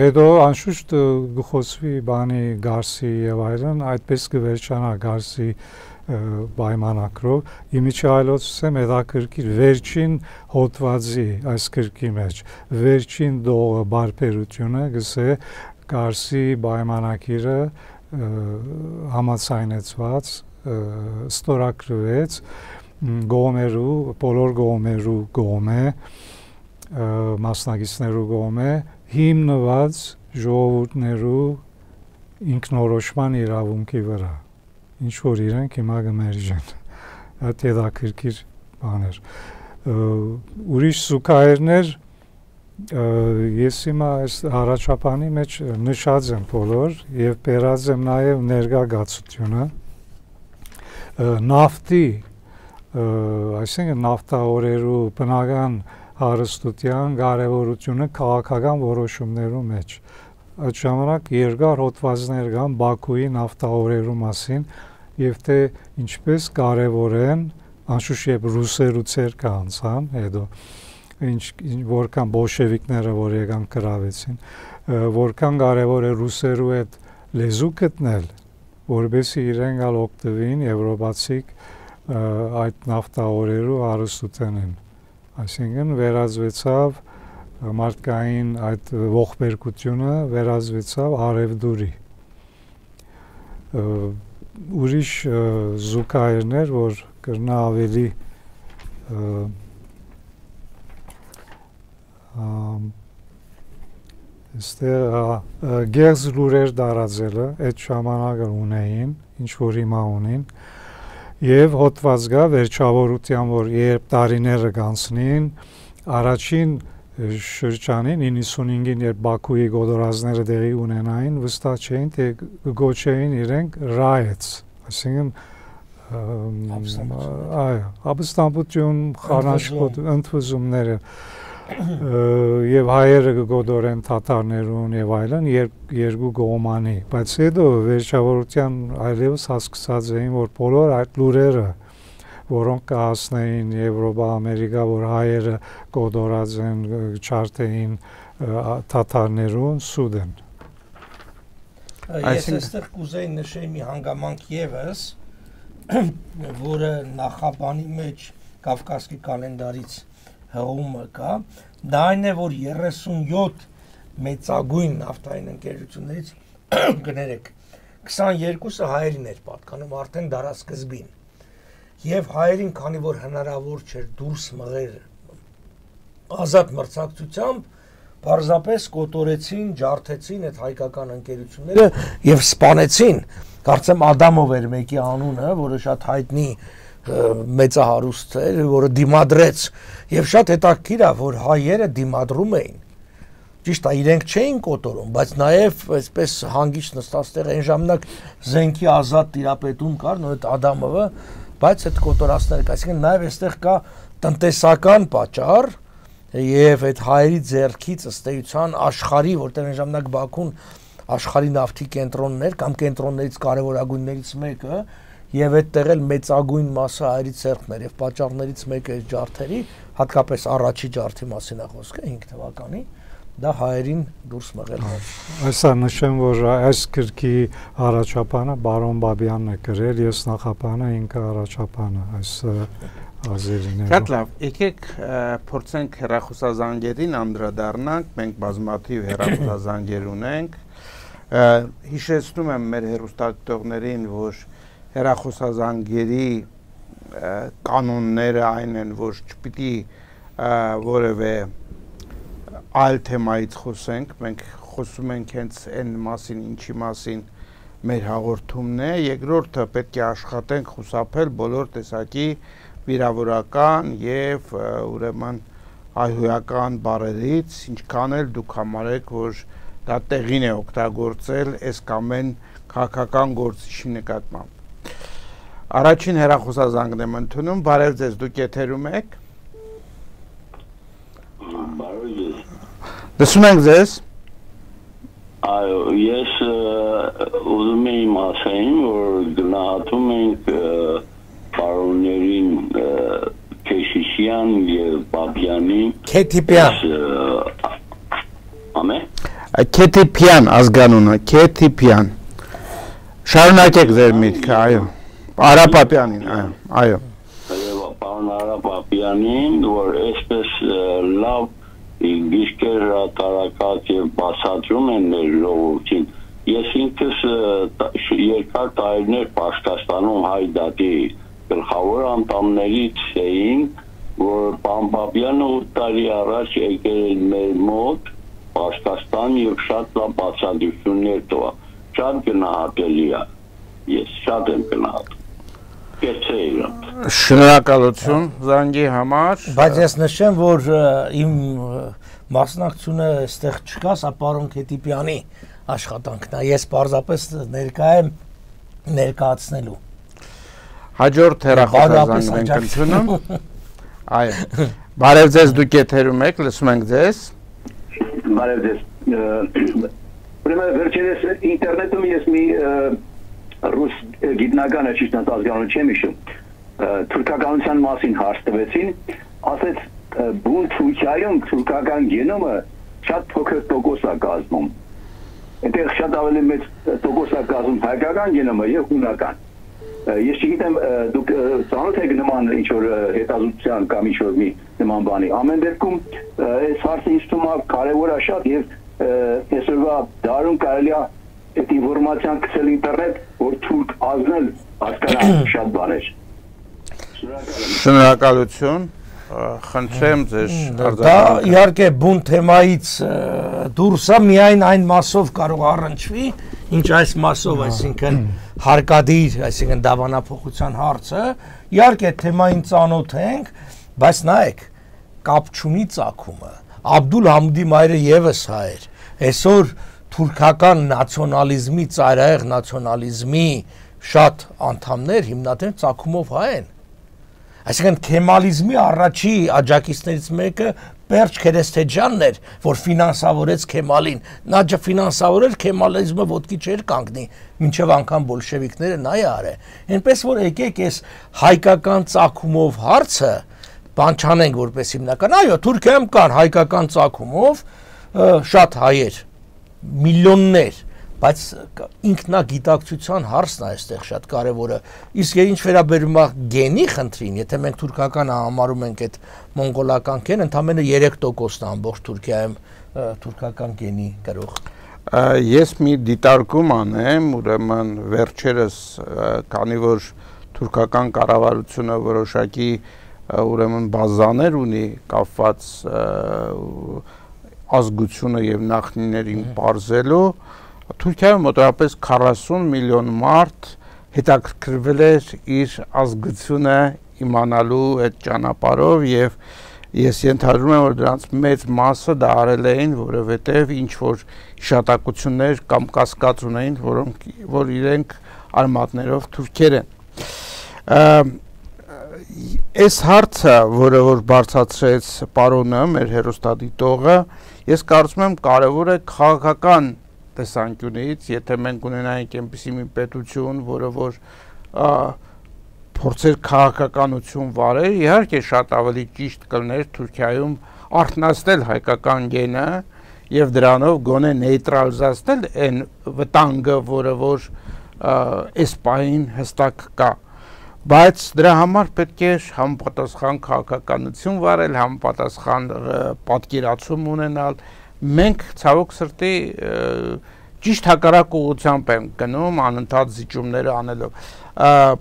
հետո անշուշտ գխոսվի բանի Գարսի եւ այլն, այդպես կվերջանա Գարսի պայմանակրով, իմիջայլոց եմ հետաքրքիր վերջին հոդվածի այս գրքի մեջ, վերջին դողը բարբերությունը գսե Գարսի պայմանակիրը համացայնեցված ստորագրվեց գոմերու, բոլոր գոմերու գոմե, մասնագետներու գոմե հիմնված ժողովուրդներու ինքնորոշման իրավունքի վրա, ինչ որ իրենք հիմա գմերժեն, այդ հետաքրքիր բաներ, ուրիշ զուգահեռներ ես հիմա այս առաջապանի մեջ նշած եմ բոլոր և բերած եմ նաև ներկայացությունը, նավթի, այսինքն նավթահորերու բնական հարստության կարևորությունը քաղաքական որոշումներու մեջ։ Այդ ժամանակ երկար հոդվածներ կան Բաքուի նավթահորերու մասին եւ թե ինչպես կարևոր են, անշուշտ երբ ռուսերու ցերկը անցան, հետո ինչ որքան բոլշևիկները որ եկան կրավեցին, որքան կարևոր է ռուսերու այդ լեզու գտնել, որովհետեւ իրենք ալ օգտվին եվրոպացիք այդ նավթահորերու հարստութենեն։ Այսինքն վերածվեցավ մարդկային այդ ողբերգությունը վերածվեցավ արևդուրի։ Ուրիշ զուգահեռներ, որ կրնա ավելի այստեղ գեղձ լուրեր դարածելը այդ ժամանակը ունեին, ինչ որ հիմա ունին, եւ հոդված կա վերջավորության, որ երբ տարիները կանցնին, առաջին շրջանին իննսունհինգին երբ Բաքուի գոդորածները տեղի ունենային, վստահ չէին, թե գոչեին իրենք ռայեց, այսինքն այո, ապստամբություն, խառնաշփոթ, ընդվզումները եւ հայերը կգոդորեն թաթարներուն եւ այլն երկու կողմանի, բայց հետո վերջավորության այլևս հասկացած էին, որ բոլոր այդ լուրերը, որոնք կհասնեին Եվրոպա, Ամերիկա, որ հայերը գոդորած են, չարթեին թաթարներուն, սուտ են։ Ես այստեղ կուզեի նշեի մի հանգամանք եւս, որը նախաբանի մեջ Կավկասի կալենդարից հղումը կա, դա այն է, որ երեսունյոթ մեծագույն նավթային ընկերություններից կներեք, քսաներկուսը հայերին էր պատկանում արդեն դարասկզբին, և հայերին, քանի որ հնարավոր չէր դուրս մղեր ազատ մրցակցությամբ, պարզապես կոտորեցին, ջարդեցին այդ հայկական ընկերությունները և սպանեցին, կարծեմ Ադամով էր մեկի անունը, որը շատ հայտնի մեծահարուստ էր, որը դիմադրեց եւ շատ հետաքրքիր է, որ հայերը դիմադրում էին։ Ճիշտ է, իրենք չէին կոտորում, բայց նաեւ այսպես հանգիստ նստած տեղ այն ժամանակ զենքի ազատ տիրապետում կար, նույն այդ Ադամովը, բայց այդ կոտորածները, այսինքն նաեւ այստեղ կա տնտեսական պատճառ եւ այդ հայերի ձեռքից ըստ էության աշխարհի, որտեղ այն ժամանակ Բաքուն աշխարհի նավթի կենտրոններ կամ կենտրոններից կարևորագույններից մեկը եւ այդտեղ էլ մեծագույն մասը հայերի ցերկն էր եւ պատճառներից մեկը այս ջարդերի, հատկապես առաջի ջարդի մասին է խոսքը հինգ թվականի, դա հայերին դուրս մղելն էր։ Այսա նշեմ, որ այս գրքի առաջապանը բարոն Բաբյանն է գրել, ես նախապանը ինքը առաջապանը այս ազերիներով։ Շատ լավ, եկեք փորձենք հեռախոսազանգերին անդրադառնանք, մենք բազմաթիվ հեռախոսազանգեր ունենք, հիշեցնում եմ մեր հեռուստադիտողներին, որ հեռախոսազանգերի կանոնները այն են, որ չպիտի որևէ այլ թեմայից խոսենք, մենք խոսում ենք հենց այն մասին, ինչի մասին մեր հաղորդումն է, երկրորդը պետք է աշխատենք խուսափել բոլոր տեսակի վիրավորական եւ ուրեմն հայհոյական բառերից, ինչքան էլ դուք համարեք, որ դա տեղին է օգտագործել այս կամ այն քաղաքական գործիչի նկատմամբ։ Առաջին հեռախոսազանգն եմ ընդունում, բարև ձեզ, դուք եթերում եք։ Բարև ձեզ։ Լսում ենք ձեզ։ Այո, ես ուզում եմ ասել, որ գնահատում ենք պարոններին Քեշիշյան եւ Բաբյանին։ Քեթիպյան։ Ամե։ Քեթիպյան ազգանունը, Քեթիպյան։ Շարունակեք ձեր միտքը, այո։ Արա Պապյանին, այո, այո։ Պարոն Արա Պապյանին, որ այսպես լավ գիշկեր հրատարակած եւ բացատրում են մեր ժողովրդին, ես ինքս երկար տարիներ Պաշտաստանում հայ դատի գլխավոր անդամներից էին, որ Պամպապյանը ութ տարի առաջ եկել էր մեր մոտ Պաշտաստան եւ շատ լավ բացատրություններ տվա։ Շատ գնահատելի է։ Ես շատ եմ գնահատում։ Շնորհակալություն զանգի համար։ Բայց ես նշեմ, որ իմ մասնակցությունը այստեղ չկա, սա պարոն Քետիպյանի աշխատանքն է։ Ես պարզապես ներկա եմ ներկայացնելու։ Հաջորդ հեռախոսազանգ ենք ընդունում։ Այո։ Բարև ձեզ, դուք եթերում եք, լսում ենք ձեզ։ Բարև ձեզ։ Ուրեմն վերջերս ինտերնետում ես մի ռուս գիտնականը ճիշտ ազգանունը չեմ հիշում, թուրքականության մասին հարց տվեցին, ասեց բուն Թուրքիայում թուրքական գենոմը շատ փոքր տոկոս է կազմում։ Այնտեղ շատ ավելի մեծ տոկոս է կազմում հայկական գենոմը եւ հունական։ Ես չգիտեմ դուք ծանոթ եք նման ինչ որ հետազոտության կամ ինչ որ մի նման բանի։ Ամեն դեպքում այս հարցը ինձ թվում է կարևոր է շատ եւ այսօրվա դարում կարելի է այդ ինֆորմացիան գցել ինտերնետ, որ թուրք ազնել հասկանա շատ բաներ։ Շնորհակալություն, խնդրեմ ձեզ դա իհարկե բուն թեմայից դուրս է, միայն այն մասով կարող առնչվի, ինչ այս մասով, այսինքն հարկադիր, այսինքն դավանափոխության հարցը, իհարկե թեմային ծանոթ ենք, բայց նայեք, կապ չունի ծագումը։ Աբդուլ Համդի մայրը եւս հայ էր։ Այսօր թուրքական նացիոնալիզմի, ծայրահեղ նացիոնալիզմի շատ անդամներ հիմնադիր ծագումով հայ են։ Այսինքն քեմալիզմի առաջի աջակիցներից մեկը Պերճ Քերեսթեջյանն էր, որ ֆինանսավորեց Քեմալին։ Նա ֆինանսավորել քեմալիզմը ոտքի չէր կանգնի, մինչև անգամ բոլշևիկները նա է արել։ Այնպես որ եկեք այս հայկական ծագումով հարցը բան չանենք որպես հիմնական։ Այո, Թուրքիայում կան հայկական ծագումով շատ հայեր, միլիոններ, բայց ինքնագիտակցության հարցն է այստեղ շատ կարևորը։ Իսկ ինչ վերաբերում է գենի խնդրին, եթե մենք թուրքականը համարում ենք այդ մոնղոլական գեն, ընդամենը երեք տոկոսն է ամբողջ Թուրքիայում թուրքական գենի կրող։ Ես մի դիտարկում անեմ, ուրեմն վերջերս, քանի որ թուրքական կառավարությունը որոշակի ուրեմն բազաներ ունի կապված ազգությունը եւ նախնիներին բարձելու, Թուրքիայում մոտավորապես քառասուն միլիոն մարդ հետաքրքրվել էր իր ազգությունը իմանալու այդ ճանապարհով եւ ես ենթադրում եմ, որ դրանց մեծ մասը դա արել էին, որովհետեւ ինչ որ հիշատակություններ կամ կասկած ունեին, որոնք որ իրենք արմատներով թուրքեր են։ Այս հարցը, որը որ բարձրացրեց պարոնը, մեր հերոստատիտողը, ես կարծում եմ կարևոր է քաղաքական տեսանկյունից, եթե մենք ունենայինք այնպիսի մի պետություն, որը որ փորձեր քաղաքականություն վարել, իհարկե շատ ավելի ճիշտ կլներ Թուրքիայում արթնացնել հայկական գենը եւ դրանով գոնե նեյտրալիզացնել այն վտանգը, որը որ այս պահին հստակ կա։ Բայց դրա համար պետք է համապատասխան քաղաքականություն վարել, համապատասխան պատկերացում ունենալ։ Մենք ցավոք սրտի ճիշտ հակառակ ուղղությամբ ենք գնում անընդհատ զիջումներ անելով։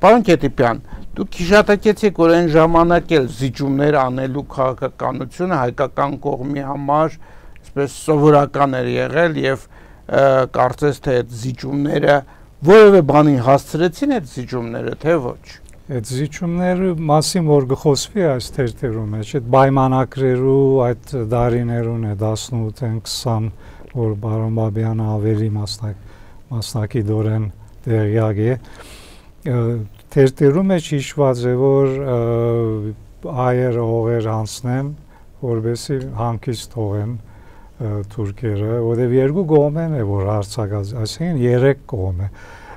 Պարոն Քետիպյան, դուք հիշատակեցիք, որ այն ժամանակ էլ զիջումներ անելու քաղաքականությունը հայկական կողմի համար այսպես սովորական էր եղել եւ կարծես թե այդ զիջումները որևէ բանի հասցրեցին այդ զիջումները, թե ոչ։ Այդ զիջումները մասին որ գխոսվի այս թերթերում մեջ, այդ պայմանակրերու այդ դարիներուն է տասնութ քսան, որ բարոն Բաբյանը ավելի մասնակի դորեն տեղյակ է, թերթերում մեջ հիշված է, որ այերը հողեր հանցնեն, որովհետեւ հանգիստ թողեն թուրքերը, որովհետեւ երկու կողմեն է, որ հարցակած, այսինքն երեք կողմ է։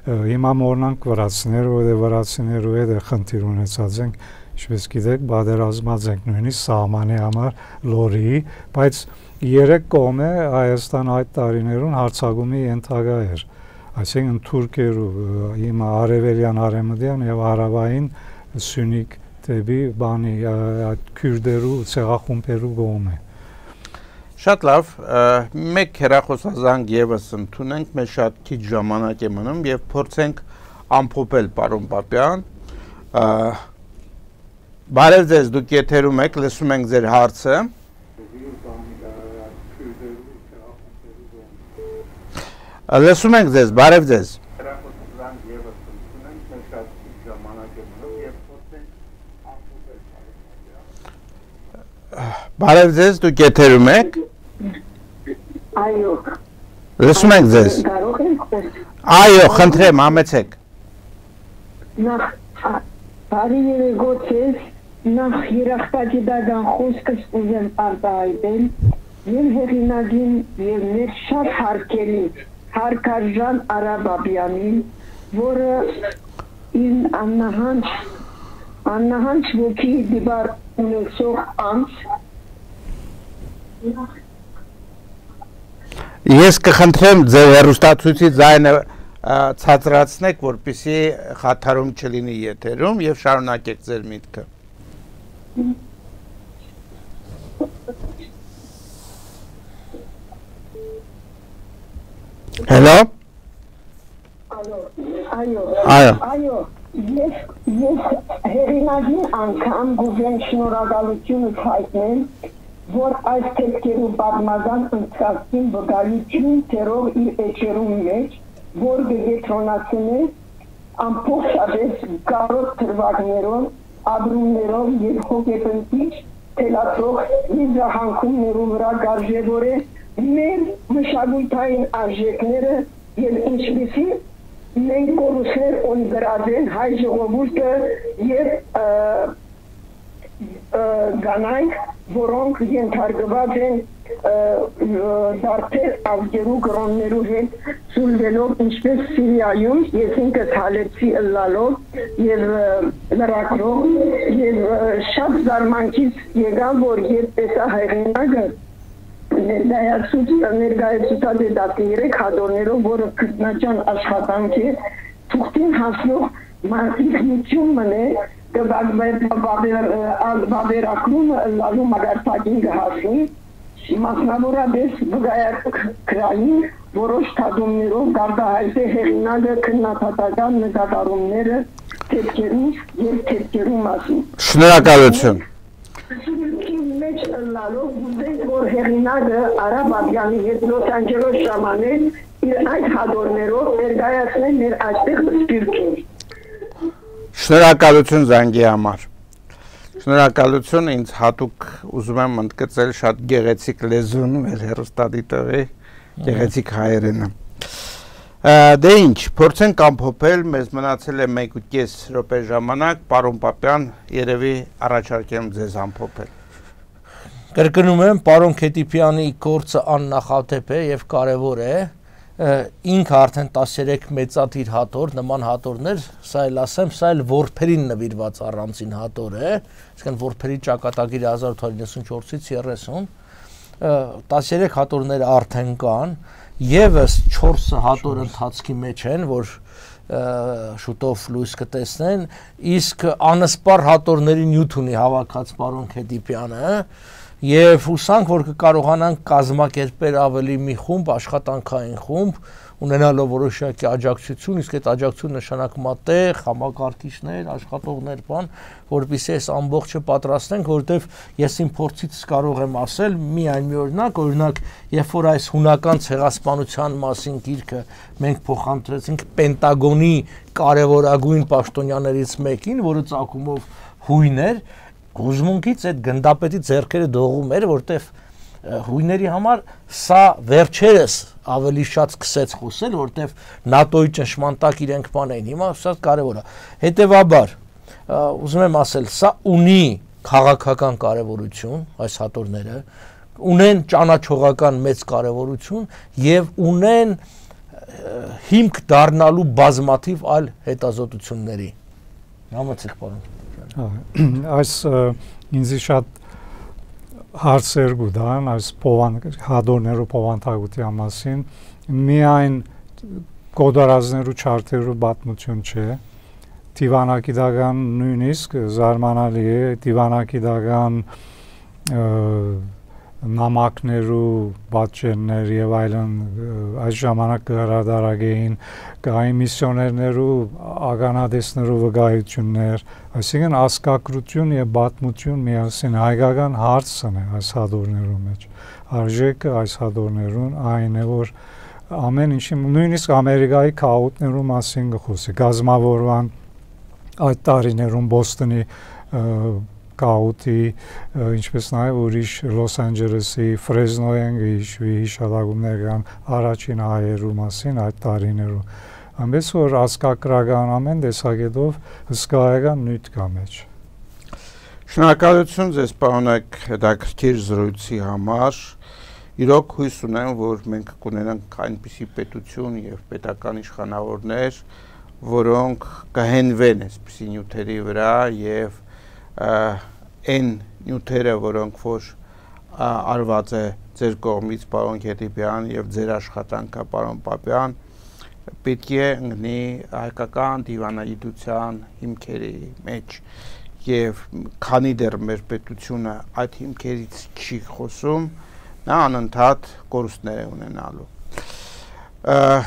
Հիմա մորնանք վրացիներ, որովհետև վրացիներու հետ խնդիր ունեցած ենք, ինչպես գիտեք, բادرազմած ենք նույնիսկ սահմանի համար լորի, բայց երեք կողմ է Հայաստան այդ տարիներուն հարցակումի ենթակա էր, այսինքն թուրքերու, հիմա արևելյան, արևմտյան եւ հարավային սյունիք դեպի բանի այդ քուրդերու ցեղախումբերու կողմ է։ Շատ լավ, մեկ հեռախոսազանգ եւս ընդունենք, մեր շատ քիչ ժամանակ է մնում եւ փորձենք ամփոփել, պարոն Պապյան։ Բարև ձեզ, դուք եթերում եք, լսում ենք ձեր հարցը։ Լսում ենք ձեզ, բարև ձեզ։ Բարև ձեզ, դուք եթերում եք։ Այո։ Լսում ենք ձեզ։ Կարող եք։ Այո, խնդրեմ, համեցեք։ Նախ բարի երեկո ձեզ, նախ երախտագիտական խոսքս ուզեմ արտահայտել եւ հեղինակին եւ մեր շատ հարգելի Հարկարժան Արա Բաբյանին, որը ին աննահանջ աննահանջ ոգի դիբար ունեցող անձ Ես կխնդրեմ ձեր հեռուստացույցի ձայնը ցածրացնեք, որպեսզի խաթարում չլինի եթերում եւ շարունակեք ձեր միտքը։ Hello? Այո, այո, այո, այո, ես ես հերինագին անգամ գուզեմ շնորհակալությունս հայտնել, որ այս թեքերու պատմական ընթացքին վկայություն թերով իր էջերում մեջ, որ գետրոնացնե ամփոփած կարոտ թրվակներով, ադրումներով եւ հոգեբնտիչ թելացող իզահանքումներու վրա գարժևոր է մեր մշակութային արժեքները եւ ինչպիսի մենք կորուսներ ունգրած են հայ ժողովուրդը եւ գանայք, որոնք ենթարկված են դարձել ավգերու գրոններու հետ սուլվելով ինչպես Սիրիայում, ես ինքս հալեցի ըլլալով եւ լրակրով եւ շատ զարմանքից եկավ, որ երբ տեսա հայրենիքը ներկայացուցած է դատերեք հադորներով, որը քրտնաճան աշխատանք է, թուղթին հասնող մարդիկնություն մնե բավերակրումը լալու մագարտակին կհասնի, մասնավորապես վգայակրային որոշ թադումներով գարդահայտ է հեղինակը քննադատական նկատառումները թեքերու և թեքերու մասին։ Շնորհակալություն։ Մեջ լալով ուզենք, որ հեղինակը Արա Բաբյանի հետ Լոս Անջելոս ժամանել իր այդ հադորներով ներկայացնել մեր այստեղ սպիրտին։ Շնորհակալություն զանգի համար։ Շնորհակալություն, ինձ հատուկ ուզում եմ ընդգծել շատ գեղեցիկ լեզուն մեր հեռուստադիտողի գեղեցիկ հայերենը։ Դե ինչ, փորձենք ամփոփել, մեզ մնացել է մեկ ու կես րոպե ժամանակ, պարոն Պապյան, երևի առաջարկեմ ձեզ ամփոփել։ Կրկնում եմ, պարոն Քետիպյանի գործը աննախադեպ է եւ կարեւոր է, ինքը արդեն տասներեք մեծաթիր հատոր, նման հատորներ, սա էլ ասեմ, սա էլ որբերին նվիրված առանձին հատոր է, այսինքն որբերի ճակատագիրը հազար ութ հարյուր նվաթից երեսուն, տասներեք հատորները արդեն կան, եւս չորսը հատոր ընթացքի մեջ են, որ շուտով լույս կտեսնեն, իսկ անսպար հատորների նյութ ունի հավաքած պարոն Քետիպյանը, եւ հուսանք, որ կկարողանանք կազմակերպել ավելի մի խումբ, աշխատանքային խումբ, ունենալով որոշակի աջակցություն, իսկ այդ աջակցությունը նշանակում է տեղ, համակարգիչներ, աշխատողներ, բան, որպեսզի այս ամբողջը պատրաստենք, որովհետեւ ես իմ փորձից կարող եմ ասել միայն մի օրինակ, օրինակ, երբ որ այս հունական ցեղասպանության մասին գիրքը մենք փոխանցեցինք Պենտագոնի կարևորագույն պաշտոնյաներից մեկին, որը ծագումով հույն էր, հուզմունքից այդ գնդապետի ձեռքերը դողում էր, որտեվ հույների համար սա վերջերս ավելի շատ սկսեց խոսել, որտեվ նատոյի ճնշման տակ իրենք բան էին, հիմա շատ կարևոր է։ Հետևաբար, ուզում եմ ասել, սա ունի քաղաքական կարևորություն, այս հատորները, ունեն ճանաչողական մեծ կարևորություն եւ ունեն հիմք դառնալու բազմաթիվ այլ հետազոտությունների։ Համեցեք, պարոն։ Այս ինձի շատ հարցեր գուտան, այս հադորներու փոխանցագության մասին, միայն կոդարազներու չարթերու պատմություն չէ, դիվանագիտական նույնիսկ զարմանալի է, դիվանագիտական նամակներու բաժիններ եւ այլն այս ժամանակ կհրադարագեին կային միսիոներներու ագանադեսներու վկայություններ, այսինքն ասկակրություն եւ բաթմություն միասին հայկական հարցն է այս հադորներու մեջ։ Արժեքը այս հադորներուն այն է, որ ամեն ինչի նույնիսկ Ամերիկայի քաոտներու մասին գխոսի, գազմավորման այդ տարիներուն Բոստոնի Կաուտի, ինչպես նաև ուրիշ Լոս Անջելեսի, Ֆրեզնոյեն հիշվի հիշատակումներ կան առաջին հայերու մասին այդ տարիներում։ Այնպես որ ազգագրական ամեն տեսակետով հսկայական նյութ կա մեջ։ Շնորհակալություն ձեզ պարոնեք հետաքրքիր զրույցի համար։ Իրոք հույս ունեմ, որ մենք կունենանք այնպիսի պետություն եւ պետական իշխանավորներ, որոնք կհենվեն այսպիսի նյութերի վրա եւ այն նյութերը, որոնք որ արված է ձեր կողմից պարոն Գետիպյան եւ ձեր աշխատանքը պարոն Պապյան, պետք է ընկնի հայկական դիվանագիտության հիմքերի մեջ եւ քանի դեռ մեր պետությունը այդ հիմքերից չի խոսում, նա անընդհատ կորուստներ է ունենալու։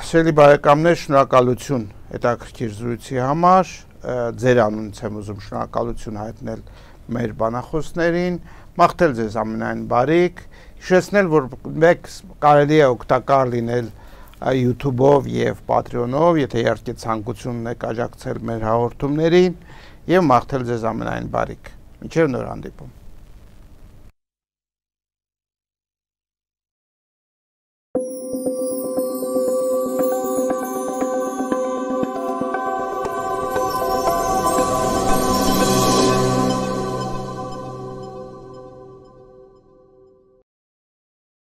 Սիրելի բարեկամներ, շնորհակալություն հետաքրքիր զրույցի համար, ձեր անունից եմ ուզում շնորհակալություն հայտնել մեր բանախոսներին, մաղթել ձեզ ամենայն բարիք, հիշեցնել, որ մեկ կարելի է օգտակար լինել YouTube-ով եւ Patreon-ով, եթե իհարկե ցանկություն ունեք աջակցել մեր հաղորդումներին, եւ մաղթել ձեզ ամենայն բարիք։ Մինչեւ նոր հանդիպում։